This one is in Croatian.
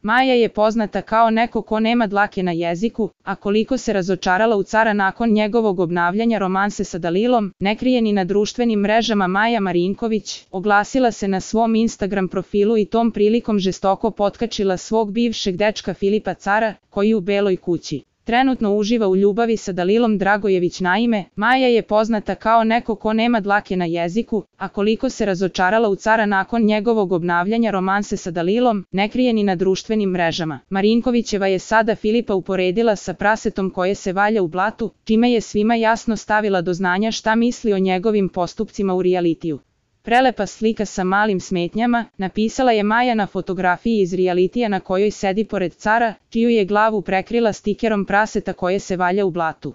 Maja je poznata kao neko ko nema dlake na jeziku, a koliko se razočarala u cara nakon njegovog obnavljanja romanse sa Dalilom, ne krije ni na društvenim mrežama. Maja Marinković oglasila se na svom Instagram profilu i tom prilikom žestoko potkačila svog bivšeg dečka Filipa Cara, koji u Beloj kući trenutno uživa u ljubavi sa Dalilom Dragojević. Naime, Maja je poznata kao neko ko nema dlake na jeziku, a koliko se razočarala u cara nakon njegovog obnavljanja romanse sa Dalilom, ne krije ni na društvenim mrežama. Marinkovićeva je sada Filipa uporedila sa prasetom koje se valja u blatu, čime je svima jasno stavila do znanja šta misli o njegovim postupcima u realitiju. Prelepa slika sa malim smetnjama, napisala je Maja na fotografiji iz realitija na kojoj sedi pored cara, čiju je glavu prekrila stikerom praseta koje se valja u blatu.